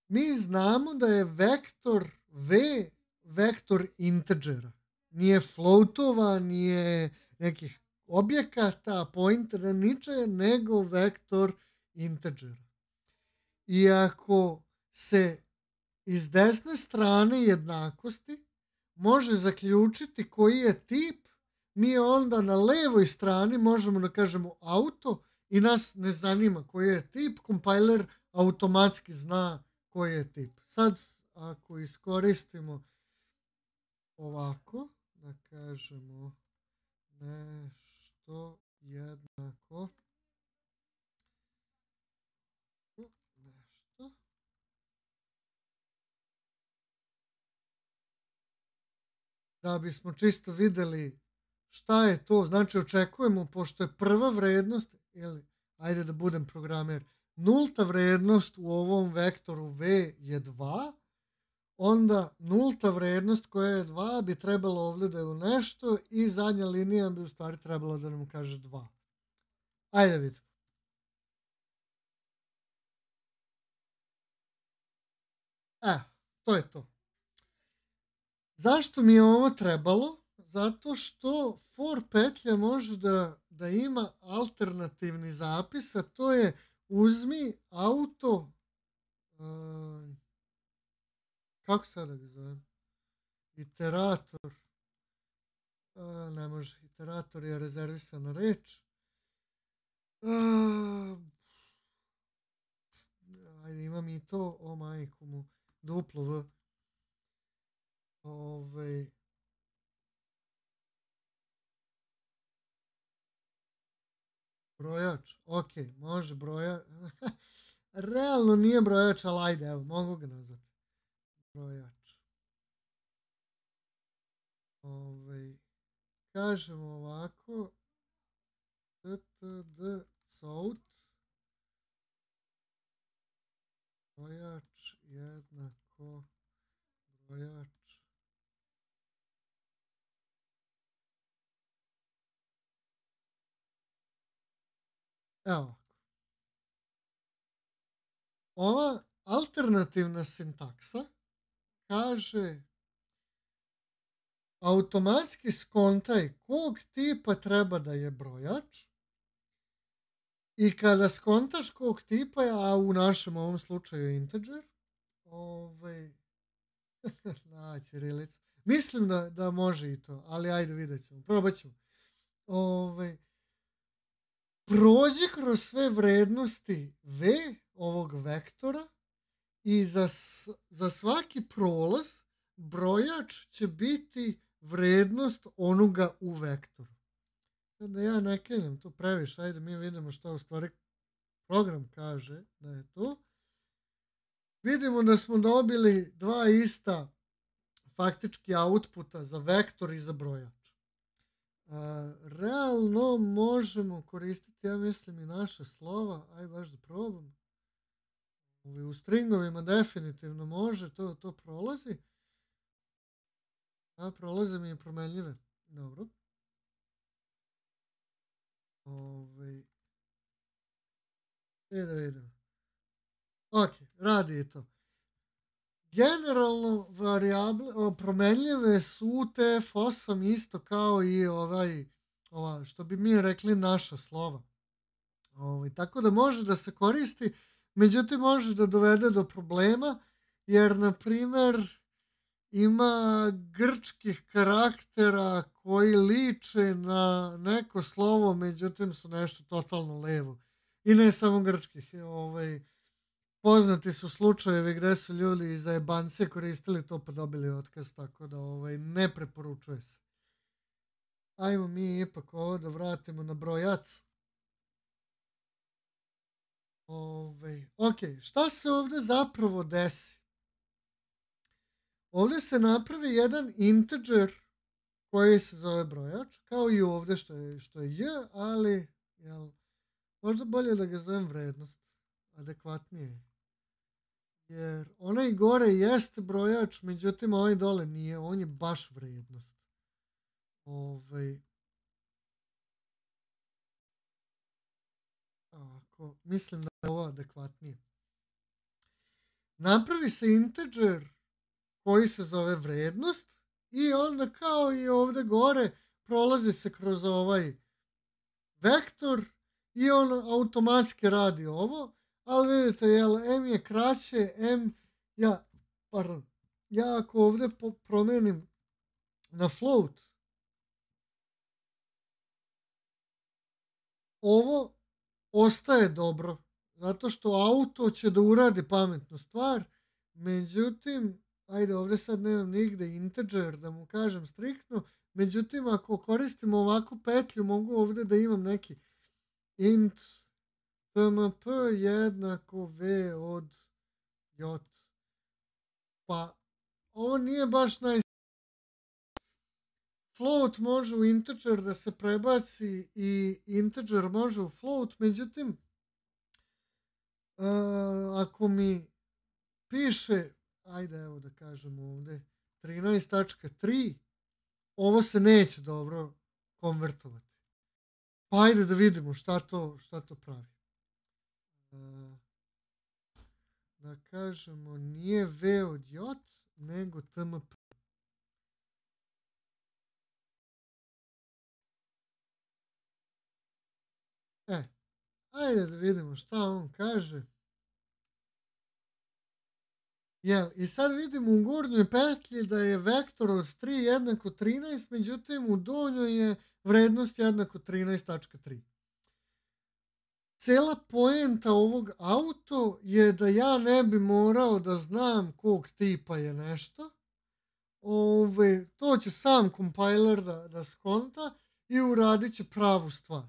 mi znamo da je vektor v vektor integera. Nije floatova, nije nekih objekata, pointera, ničega, nego vektor integera. I ako se iz desne strane jednakosti može zaključiti koji je tip, mi onda na levoj strani možemo da kažemo auto i nas ne zanima koji je tip, compiler automatski zna koji je tip. Sad, ako iskoristimo ovako, da kažemo nešto jednako, nešto, da bismo čisto videli šta je to. Znači očekujemo, pošto je prva vrednost, ili ajde da budem programer, nulta vrednost u ovom vektoru v je 2, onda nulta vrednost koja je 2 bi trebalo ovdje da je u nešto i zadnja linija bi u stvari trebalo da nam kaže 2. Ajde vidimo. To je to. Zašto mi je ovo trebalo? Zato što for petlja može da ima alternativni zapis, a to je uzmi auto, kako sada ga zovem? Iterator. Ne može, iterator je rezervisana reč. Ajde, imam i to, o majku mu, duplo v. Brojač, ok, može brojač. Realno nije brojač, ali ajde, evo, mogu ga nazvati. Brojač. Kažemo ovako, std south, brojač jednako brojač. Evo. Ova alternativna sintaksa kaže automatski skontaj kog tipa treba da je brojač i kada skontaš kog tipa je, a u našem ovom slučaju integer, ćirilica. Mislim da može i to, ali ajde vidjet ćemo, probat ćemo. Prođi kroz sve vrednosti v ovog vektora i za svaki prolaz brojač će biti vrednost onoga u vektoru. Sad da ja ne kenjam to previše, ajde mi vidimo što u stvari program kaže da je to. Vidimo da smo dobili dva ista faktički outputa za vektor i za brojač. Realno možemo koristiti, ja mislim, i naše slova. Aj baš da probam. U stringovima definitivno može, to prolazi. Prolaze mi i promenljive. Dobro. Da vidimo. Ok, radi i to. Generalno promenljive su UTF-8 isto kao i ova, što bi mi rekli, naša slova. Tako da može da se koristi, međutim može da dovede do problema, jer na primjer ima grčkih karaktera koji liče na neko slovo, međutim su nešto totalno levo. I ne samo grčkih, poznati su slučajevi gde su ljudi iz zajebancije koristili to pa dobili otkaz, tako da ne preporučuje se. Ajmo mi ipak ovo da vratimo na brojac. Ok, šta se ovdje zapravo desi? ovdje se napravi jedan integer koji se zove brojač, kao i ovdje što je j, ali možda bolje da ga zovem vrednost, adekvatnije. Jer onaj gore jeste brojač, međutim ovaj dole nije, on je baš vrednost. Mislim da je ovo adekvatnije. Napravi se integer koji se zove vrednost i onda kao i ovdje gore prolazi se kroz ovaj vektor i on automatski radi ovo, ali vidite, m je kraće, ja ako ovdje promijenim na float, ovo ostaje dobro, zato što auto će da uradi pametnu stvar, međutim, ajde, ovdje sad nemam nigde integer da mu kažem striktno, međutim, ako koristim ovakvu petlju, mogu ovdje da imam neki int tmp jednako v od j. Pa, ovo nije baš float može u integer da se prebaci i integer može u float, međutim, ako mi piše, ajde evo da kažem ovdje, 13.3, ovo se neće dobro konvertovati. Pa ajde da vidimo šta to pravi. Da kažemo, nije v od j, nego tmp. Ajde da vidimo šta on kaže. I sad vidimo u gornjoj petlji da je vektor od 3 jednako 13, međutim u donjoj je vrednost jednako 13.3. Cela poenta ovog auto je da ja ne bi morao da znam kog tipa je nešto. To će sam compiler da skonta i uradit će pravu stvar.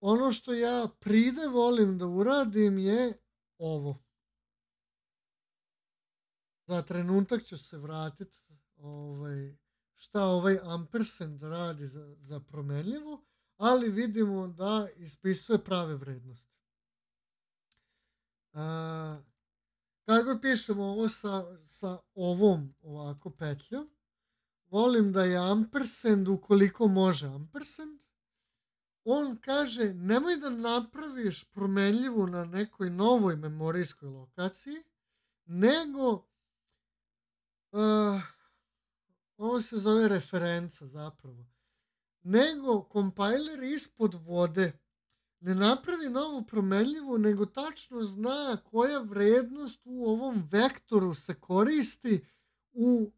Ono što ja pride volim da uradim je ovo. Za trenutak ću se vratiti šta ovaj ampersand radi za promenljivu, ali vidimo da ispisuje prave vrednosti. Kako pišemo ovo sa ovom ovako petljom, volim da je ampersand ukoliko može ampersand. On kaže, nemoj da napraviš promenljivu na nekoj novoj memorijskoj lokaciji, nego ovo se zove referenca zapravo, nego compiler ispod vode ne napravi novu promenljivu, nego tačno zna koja vrednost u ovom vektoru se koristi u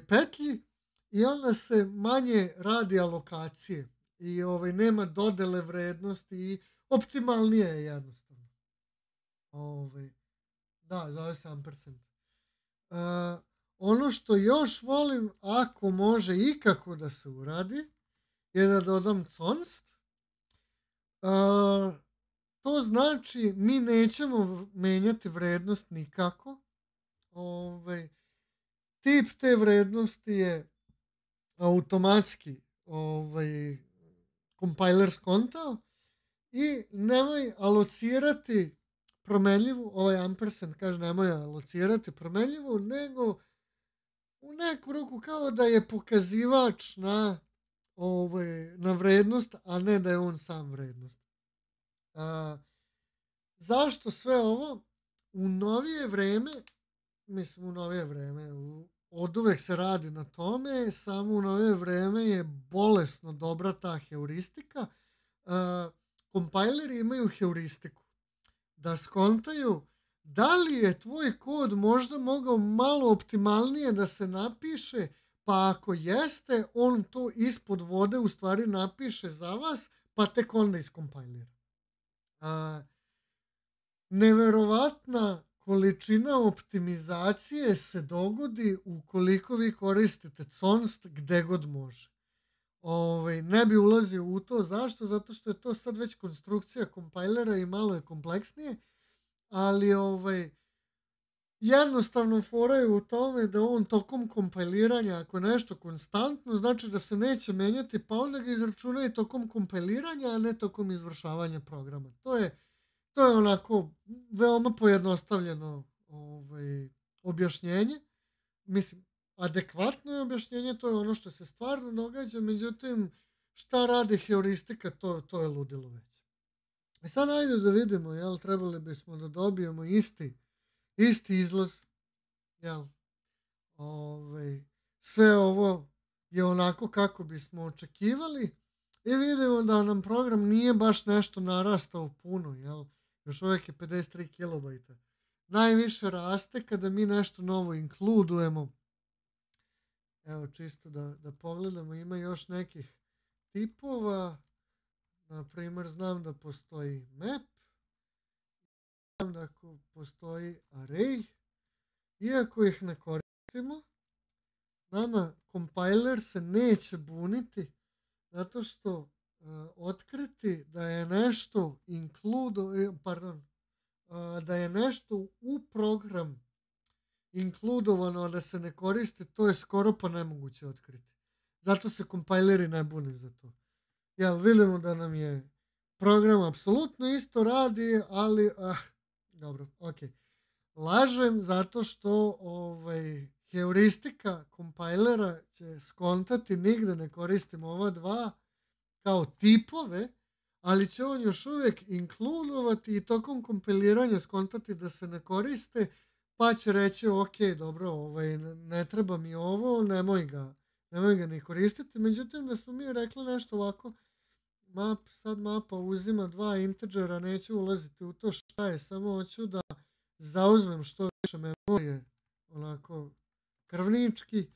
petlji i onda se manje radi alokacije i nema dodele vrednosti i optimalnije je jednostavno. Da, zove se ampersand. Ono što još volim, ako može ikako da se uradi, je da dodam const. To znači mi nećemo menjati vrednost nikako. Tip te vrednosti je automatski compiler skontao i nemoj alocirati promenljivu, ovaj ampersand kaže nemoj alocirati promenljivu, nego u neku ruku kao da je pokazivač na vrednost, a ne da je on sam vrednost. Zašto sve ovo? U novije vreme, od uvek se radi na tome, samo u novije vreme je bolesno dobra ta heuristika. Kompajleri imaju heuristiku. Da skontaju da li je tvoj kod možda mogao malo optimalnije da se napiše, pa ako jeste, on to ispod vode u stvari napiše za vas, pa tek onda iskompajlira. Neverovatna količina optimizacije se dogodi ukoliko vi koristite const gde god može. Ne bi ulazio u to. Zašto? Zato što je to sad već konstrukcija kompajlera i malo je kompleksnije, ali jednostavno fora je u tome da on tokom kompiliranja, ako je nešto konstantno, znači da se neće menjati, pa onda ga izračunaju tokom kompiliranja, a ne tokom izvršavanja programa. To je onako veoma pojednostavljeno objašnjenje. Mislim, adekvatno je objašnjenje, to je ono što se stvarno događa, međutim, šta radi heuristika, to je ludilo već. I sad ajde da vidimo, jel, trebali bismo da dobijemo isti izlaz, jel, sve ovo je onako kako bismo očekivali i vidimo da nam program nije baš nešto narastao puno, jel, još uvijek je 53 kilobajta. Najviše raste kada mi nešto novo inkludujemo. Evo, čisto da pogledamo, ima još nekih tipova. Na primjer, znam da postoji map, znam da postoji array. Iako ih ne koristimo, nama compiler se neće buniti zato što otkriti da je nešto da je nešto u program inkludovano, a da se ne koristi, to je skoro pa nemoguće otkriti. Zato se kompajleri ne bune za to. Jel, vidimo da nam je program apsolutno isto radi, ali dobro, ok. Lažem zato što heuristika kompajlera će skontati, nigde ne koristimo ova dva kao tipove, ali će on još uvijek inkludovati i tokom kompiliranja skontati da se ne koriste, pa će reći ok, dobro, ne treba mi ovo, nemoj ga ni koristiti. Međutim, da smo mi rekli nešto ovako, sad mapa uzima dva integera, neću ulaziti u to šta je, samo hoću da zauzmem što više memorije, onako krvnički.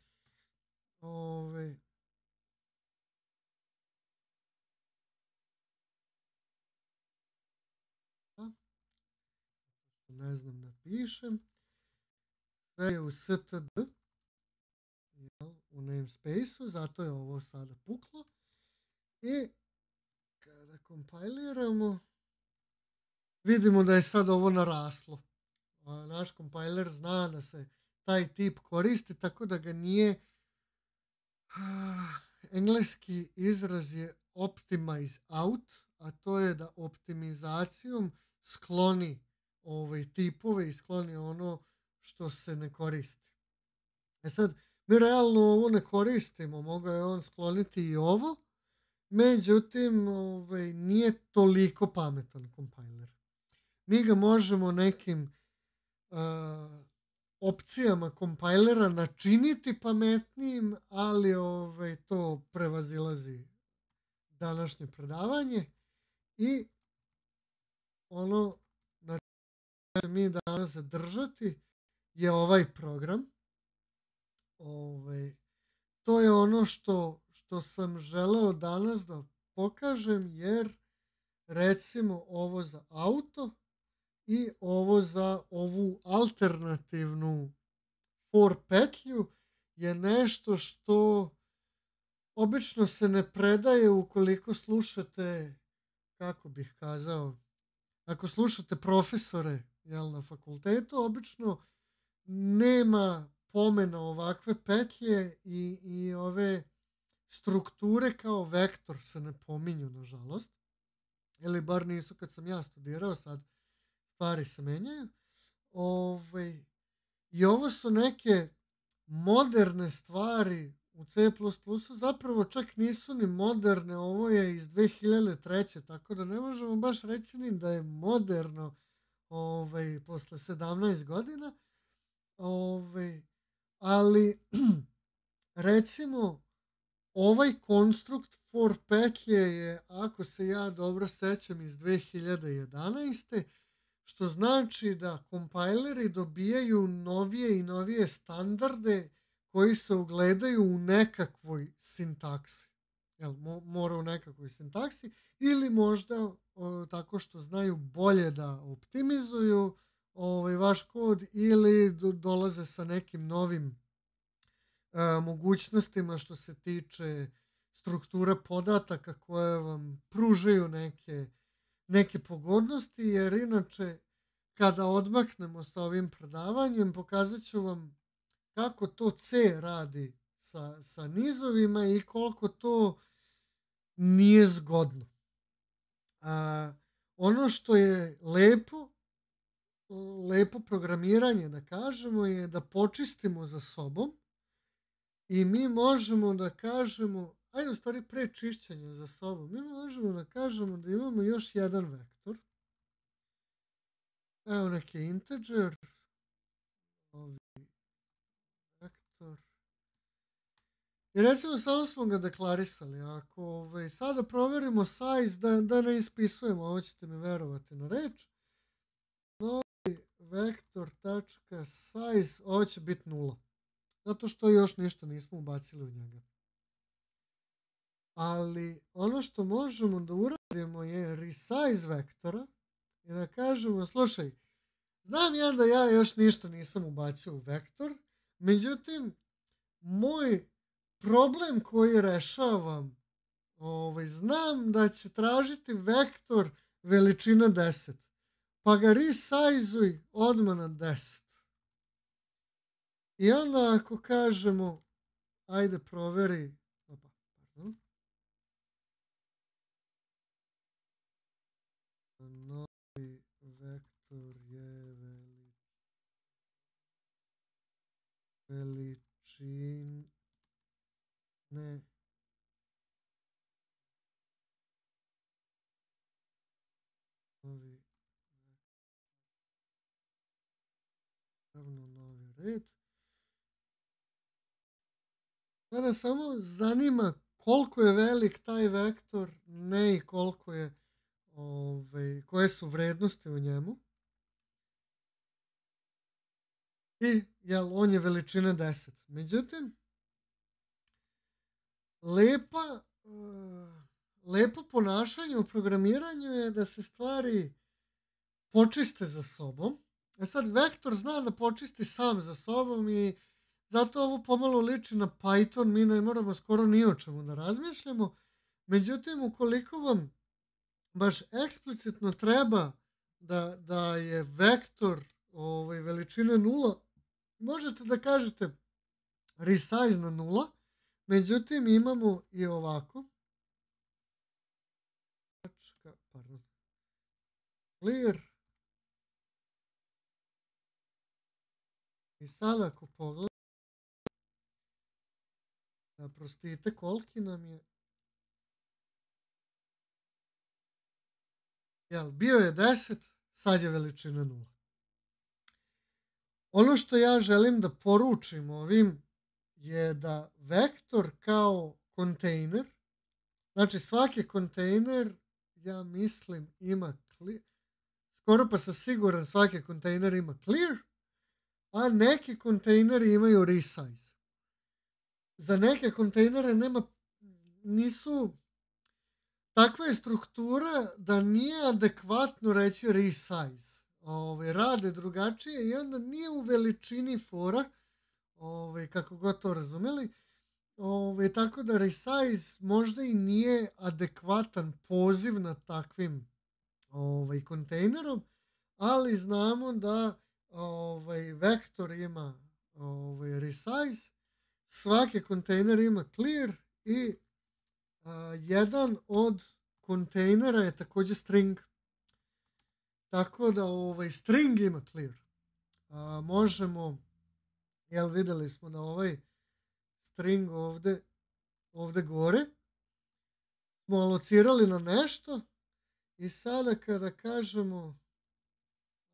Ne znam, napišem. Sve je u std, u namespace-u, zato je ovo sada puklo. I kada kompiliramo, vidimo da je sad ovo naraslo. Naš kompiler zna da se taj tip koristi, tako da ga nije... Engleski izraz je optimize out, a to je da optimizacijom skloni tipove i skloni ono što se ne koristi. Sad, mi realno ovo ne koristimo, mogao je on skloniti i ovo, međutim, nije toliko pametan kompiler. Mi ga možemo nekim opcijama kompajlera načiniti pametnijim, ali to prevazilazi današnje predavanje i ono na čemu se mi danas zadržati je ovaj program. To je ono što sam želeo danas da pokažem, jer recimo ovo za auto i ovo za ovu alternativnu for petlju je nešto što obično se ne predaje ukoliko slušate, kako bih kazao, ako slušate profesore na fakultetu, obično nema pomena ovakve petlje i ove strukture kao vektor se ne pominju, nažalost. Ili bar nisu kad sam ja studirao, sad stvari se menjaju. I ovo su neke moderne stvari u C++, zapravo čak nisu ni moderne, ovo je iz 2003. Tako da ne možemo baš reći ni da je moderno posle 17 godina. Ali recimo ovaj konstrukt for petlje je, ako se ja dobro sećam, iz 2011. Što znači da kompajleri dobijaju novije i novije standarde koji se ugledaju u nekakvoj sintaksi. Mora u nekakvoj sintaksi ili možda tako što znaju bolje da optimizuju vaš kod ili dolaze sa nekim novim mogućnostima što se tiče struktura podataka koje vam pružaju neke pogodnosti, jer inače kada odmaknemo sa ovim predavanjem, pokazat ću vam kako to C radi sa nizovima i koliko to nije zgodno. Ono što je lepo programiranje, da kažemo, je da počistimo za sobom i mi možemo da kažemo, ajde u stvari pre čišćenja za sobom, mi možemo da kažemo da imamo još jedan vektor. Evo neki integer, vektor. I recimo samo smo ga deklarisali. Ako sada proverimo size, da ne ispisujemo, ovo ćete mi verovati na reč. Novi vektor.size, ovo će biti 0. Zato što još ništa nismo ubacili u njega. Ali ono što možemo da uradimo je resize vektora i da kažemo, slušaj, znam ja da ja još ništa nisam ubacio u vektor, međutim, moj problem koji rešavam, znam da će tražiti vektor veličina 10, pa ga resizeuj odmah na 10. I onda ako kažemo, ajde proveri, novi vektor je veličine novi red. Sada samo zanima koliko je velik taj vektor, ne i koliko je, koje su vrednosti u njemu. I on je veličine 10. Međutim, lepo ponašanje u programiranju je da se stvari počiste za sobom. Sad, vektor zna da počisti sam za sobom i zato ovo pomalo liči na Python, mi ne moramo skoro ni o čemu da razmišljamo. Međutim, ukoliko vam baš eksplicitno treba da je vektor veličine 0, možete da kažete resize na 0, međutim imamo i ovako. Clear. I sad ako pogledamo, prostite koliki nam je, bio je 10, sad je veličina 0. Ono što ja želim da poručim ovim je da vektor kao kontejner, znači svaki kontejner, ja mislim, ima clear, skoro pa sam siguran svaki kontejner ima clear, a neki kontejneri imaju resize. Za neke kontejnere nisu, takva je struktura da nije adekvatno reći resize. Rade drugačije i onda nije u veličini fora, kako god to razumeli. Tako da resize možda i nije adekvatan poziv na takvim kontejnerom, ali znamo da vektor ima resize, svaki kontejner ima clear i jedan od kontejnera je također string. Tako da string ima clear. Možemo, vidjeli smo da ovaj string ovdje gore smo alocirali na nešto i sada kada kažemo,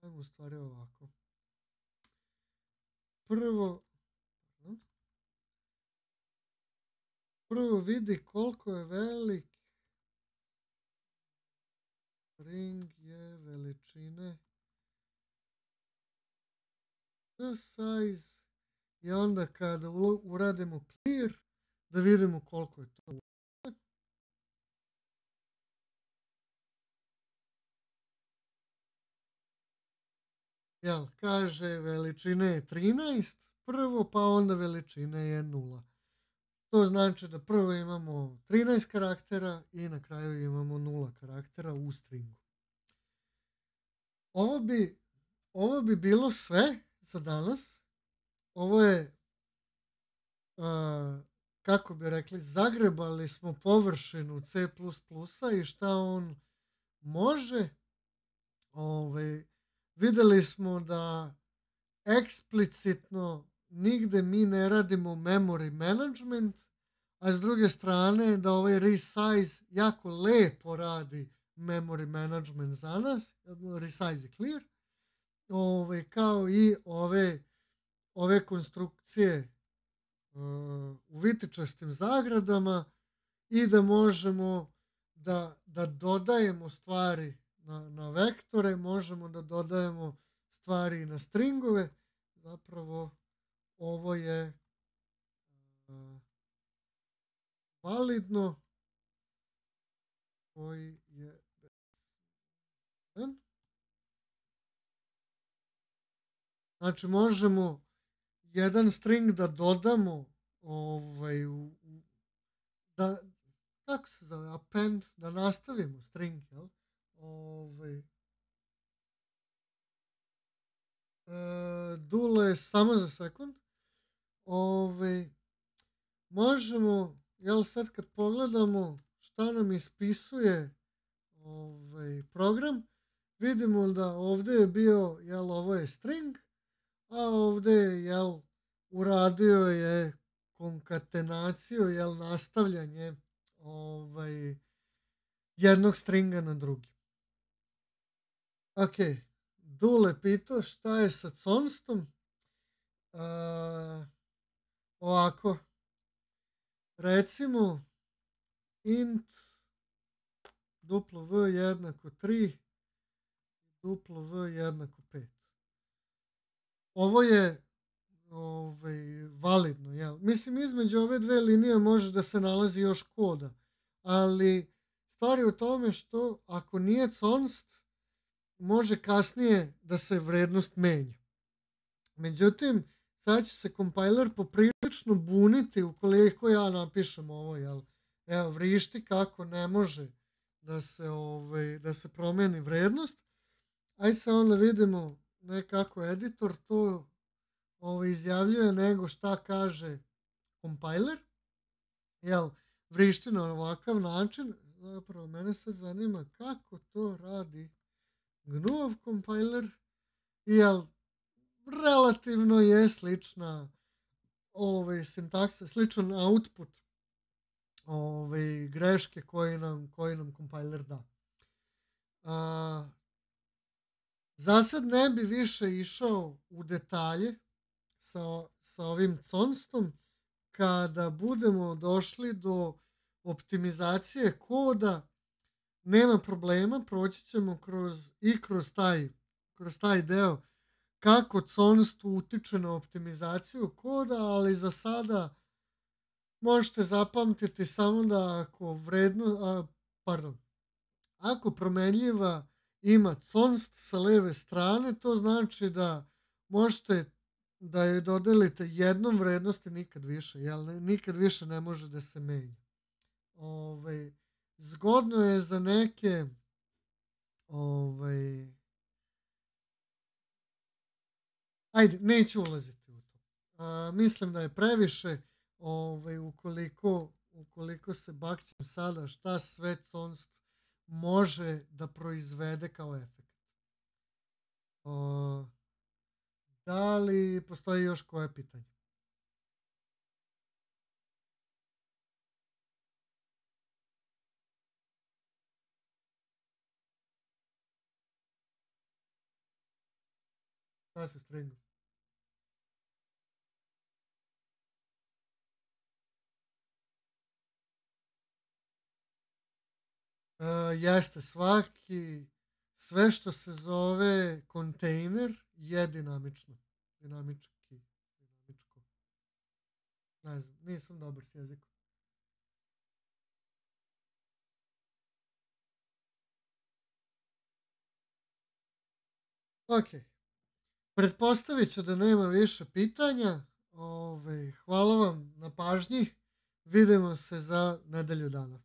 ajmo u stvari ovako. Prvo vidi koliko je velik string je veličine size i onda kada uradimo clear da vidimo koliko je to. Kaže veličine je 13 prvo, pa onda veličine je 0. To znači da prvo imamo 13 karaktera i na kraju imamo 0 karaktera u stringu. Ovo bi ovo bi bilo sve za danas. Ovo je, kako bi rekli, zagrebali smo površinu C++-a i šta on može. Videli smo da eksplicitno nigde mi ne radimo memory management, a s druge strane da ovaj resize jako lepo radi memory management za nas. Resize je clear. Kao i ove konstrukcije u vitičastim zagradama i da možemo da dodajemo stvari na vektore, možemo da dodajemo stvari na stringove. Zapravo ovo je validno, koji je znači možemo jedan string da dodamo da, kako se zove, append, da nastavimo string, jel? Dule, samo za sekund. Možemo, jel, sad kad pogledamo šta nam ispisuje program, vidimo da ovdje je bio, jel, ovo je string, a ovdje je, jel, uradio je konkatenaciju, jel, nastavljanje jednog stringa na drugi. Ok, Dule pitao šta je sa constom. Ovako, recimo int duplo v jednako 3 duplo v jednako 5. Ovo je validno, jel? Mislim, između ove dve linije može da se nalazi još koda, ali stvar je u tome što ako nije const, može kasnije da se vrednost menja. Međutim, sad će se kompiler poprilično buniti ukoliko ja napišem ovo, jel? Evo, vrišti kako ne može da se promeni vrednost. Ajde se onda vidimo nekako editor to izjavljuje nego šta kaže kompiler. Jel, vrišti na ovakav način. Zapravo, mene sad zanima kako to radi GNU kompiler. Jel, relativno je slična sintaksa, sličan output greške koji nam kompiler da. Za sad ne bi više išao u detalje sa ovim constom. Kada budemo došli do optimizacije koda, nema problema, proći ćemo kroz taj deo kako const utiče na optimizaciju koda, ali za sada možete zapamtiti samo da ako promenljiva ima const sa leve strane, to znači da možete da joj dodelite jednom vrednosti, nikad više, jel? Nikad više ne može da se menja. Zgodno je za neke ajde, neću ulaziti u to. Mislim da je previše ukoliko se bakćem sada šta sve const može da proizvede kao efekt. Da li postoji još koje pitanje? Šta se stringu? Jeste, sve što se zove kontejner je dinamično. Dinamičko. Ne znam, nisam dobar s jezikom. Ok. Pretpostavit ću da nema više pitanja. Hvala vam na pažnji. Vidimo se za nedelju dana.